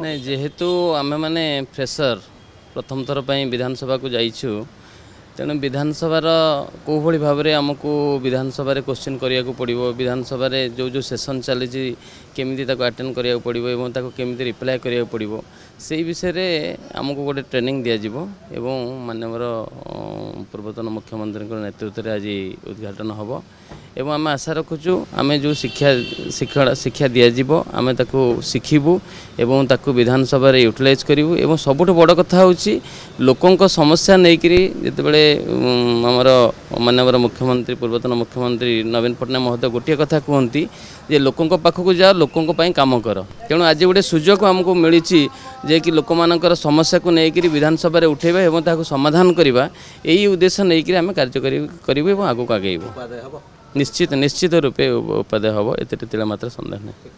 ନାଇଁ, ଯେହେତୁ ଆମେମାନେ ଫ୍ରେସର, ପ୍ରଥମ ଥର ପାଇଁ ବିଧାନସଭାକୁ ଯାଇଛୁ, ତେଣୁ ବିଧାନସଭାର କେଉଁଭଳି ଭାବରେ ଆମକୁ ବିଧାନସଭାରେ କୋଶ୍ଚିନ୍ କରିବାକୁ ପଡ଼ିବ, ବିଧାନସଭାରେ ଯେଉଁ ଯେଉଁ ସେସନ୍ ଚାଲିଛି କେମିତି ତାକୁ ଆଟେଣ୍ଡ କରିବାକୁ ପଡ଼ିବ ଏବଂ ତାକୁ କେମିତି ରିପ୍ଲାଏ କରିବାକୁ ପଡ଼ିବ, ସେଇ ବିଷୟରେ ଆମକୁ ଗୋଟେ ଟ୍ରେନିଂ ଦିଆଯିବ। ଏବଂ ମାନ୍ୟବର ପୂର୍ବତନ ମୁଖ୍ୟମନ୍ତ୍ରୀଙ୍କ ନେତୃତ୍ୱରେ ଆଜି ଉଦ୍ଘାଟନ ହେବ ଏବଂ ଆମେ ଆଶା ରଖୁଛୁ ଆମେ ଯେଉଁ ଶିକ୍ଷା ଶିକ୍ଷା ଦିଆଯିବ ଆମେ ତାକୁ ଶିଖିବୁ ଏବଂ ତାକୁ ବିଧାନସଭାରେ ୟୁଟିଲାଇଜ୍ କରିବୁ। ଏବଂ ସବୁଠୁ ବଡ଼ କଥା ହେଉଛି, ଲୋକଙ୍କ ସମସ୍ୟା ନେଇକରି ଯେତେବେଳେ ଆମର ମାନ୍ୟବର ମୁଖ୍ୟମନ୍ତ୍ରୀ, ପୂର୍ବତନ ମୁଖ୍ୟମନ୍ତ୍ରୀ ନବୀନ ପଟ୍ଟନାୟକ ମହୋଦୟ ଗୋଟିଏ କଥା କୁହନ୍ତି ଯେ ଲୋକଙ୍କ ପାଖକୁ ଯାଅ, ଲୋକଙ୍କ ପାଇଁ କାମ କର। ତେଣୁ ଆଜି ଗୋଟେ ସୁଯୋଗ ଆମକୁ ମିଳିଛି ଯେ କି ଲୋକମାନଙ୍କର ସମସ୍ୟାକୁ ନେଇକରି ବିଧାନସଭାରେ ଉଠାଇବା ଏବଂ ତାହାକୁ ସମାଧାନ କରିବା। ଏଇ ଉଦ୍ଦେଶ୍ୟ ନେଇକରି ଆମେ କାର୍ଯ୍ୟ କରିବୁ ଏବଂ ଆଗକୁ ଆଗେଇବୁ। ନିଶ୍ଚିତ ରୂପେ ଉପାଦେୟ ହେବ, ଏଥିରେ ତିଳେ ମାତ୍ର ସନ୍ଦେହ ନାହିଁ।